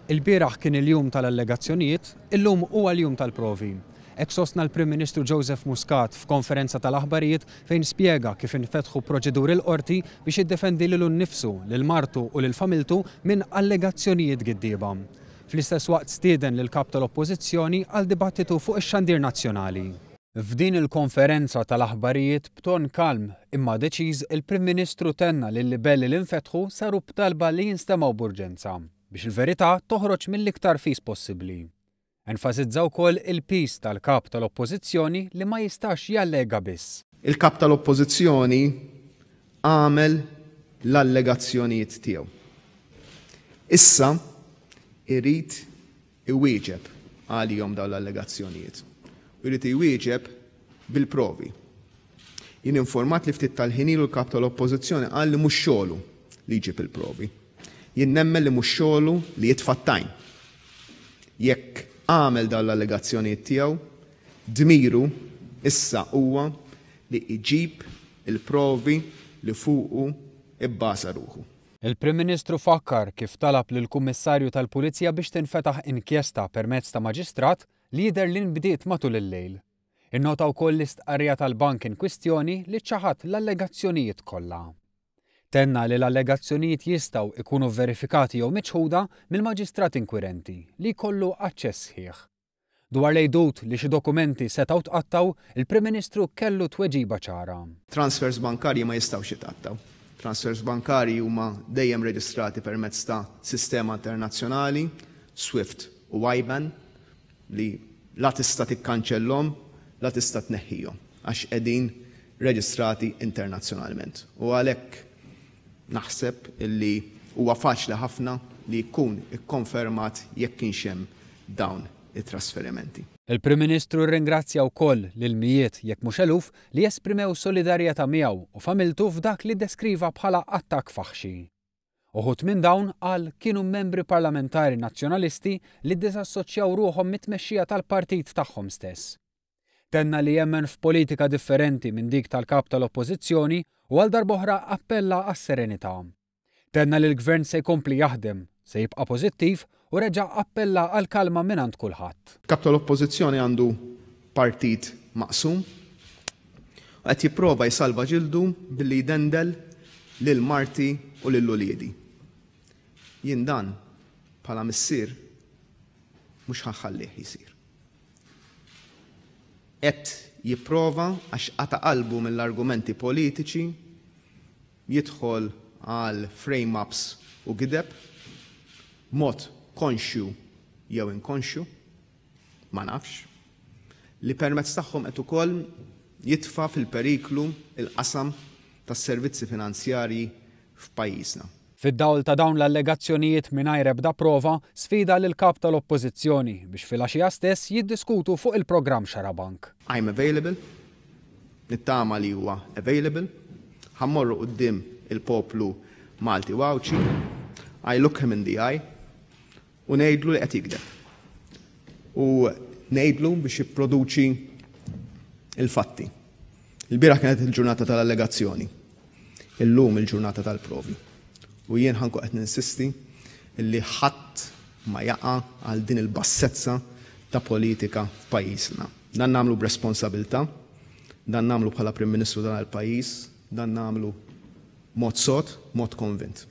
Ilbieraħ kien il-jum tal-allegazzjonijiet, illum huwa l-jum tal-provi. Hekk sostna l-Prim Ministru Joseph Muscat f'konferenza tal-aħbarijiet fejn spjega kif infetħu proċeduri l-Qorti biex jiddefendi lilu nnifsu, lil martu u lil familtu minn allegazzjonijiet giddieba. Fl-istess waqt stieden lill-Kap tal-Oppożizzjoni għal dibattitu fuq ix-xandir nazzjonali. F'din il-konferenza tal-aħbarijiet b'ton kalm imma deċiż il-Prim Ministru tenna li l-libelli li nfetħu saru b'talba li jinstemgħu b'urġenza biex il-verità toħroġ mill-iktar fis possibbli. Enfasizza wkoll il-piż tal-Kap tal-Oppożizzjoni li ma jistax jallega biss. Il-Kap tal-Oppożizzjoni għamel l-allegazzjonijiet tiegħu. Issa irid iwieġeb għalihom dawn l-allegazzjonijiet u jrid iwieġeb bil-provi. Jien informat li ftit tal-ħin ilu l-Kap tal-Oppożizzjoni qal li mhux xogħlu li jġib il-provi. Jien nemmen li mhux xogħlu li jitfa' t-tajn. Jekk għamel dawn l-allegazzjonijiet tiegħu, dmiru issa huwa li jġib il-provi li fuqu bbaża ruħu. Il-Prim Ministru fakkar kif talab lill-Kummissarju tal-Pulizija biex tinfetaħ inkjesta permezz ta' Maġistrat li jidher li nbdiet matul il-lejl. Innota wkoll l-istqarrija tal-bank in kwistjoni li ċaħad l-allegazzjonijiet kollha. Tenna li l-allegazzjonijiet jistgħu ikunu verifikati jew miċħuda mill-Maġistrat inkwirenti li jkollu aċċess sħiħ. Dwar l-għidut li xi dokumenti setgħu tqattgħu, il-Prim Ministru kellu tweġiba ċara. Transfers bankarji ma jistgħux jitqattgħu. Transfers bankarji huma dejjem reġistrati permezz ta' sistema internazzjonali, SWIFT u IBAN, li la tista' tikkanċellhom, la tista' tneħħihom, għax qegħdin reġistrati internazzjonalment. U għalhekk naħseb li huwa faċli ħafna li jkun ikkonfermat jekk kienx hemm dawn it-trasferimenti. Il-Prim Ministru rringrazzja wkoll lil mijiet jekk mhux eluf li esprimew solidarjetà miegħu u familtu f'dak li ddeskriva bħala attakk faħxi. Uħud minn dawn, qal, kienu membri parlamentari Nazzjonalisti li ddisassoċjaw ruħhom mit-tmexxija tal-partit tagħhom stess. Tenna li jemmen f'politika differenti minn dik tal-Kap tal-Oppożizzjoni u għal darb'oħra appella għas-serenità. Tenna li l-Gvern se jkompli jaħdem, se jibqa' pożittiv u reġa' appella għall-kalma mingħand kulħadd. Kap tal-Oppożizzjoni għandu partit maqsum u qed jipprova jsalva ġildu billi jdendel lil marti u lil uliedi. Jien dan bħala missier mhux ħa nħallih jsir. Qed jipprova għax qata' qalbu mill-argumenti politiċi jidħol għal frame-ups u gideb, b'mod konxju jew inkonxju, ma nafx, li permezz tagħhom qed ukoll jitfa' fil-periklu l-qasam tas-servizzi finanzjarji f'pajjiżna. Fid-dawl ta' dawn l-allegazzjonijiet mingħajr ebda prova, sfida lill-Kap tal-Oppożizzjoni biex filgħaxija stess jiddiskutu fuq il-programm Xarabank. I'm available, nittama li huwa available, ħa mmorru quddiem il-poplu Malti u Għawdxi, I look him in the eye, u ngħidlu li qed jigdeb. U ngħidlu biex jipproduċi il-fatti. Il-bieraħ kienet il-ġurnata tal-allegazzjoni. Illum il-ġurnata tal-provi. U jien ħa nkun qed ninsisti li ħadd ma jaqa' għal din il-bassezza ta' politika f'pajjiżna. Dan nagħmlu b'responsabilità, dan nagħmlu bħala Prim Ministru dan il-pajjiż, dan nagħmlu mod sod, mod konvint.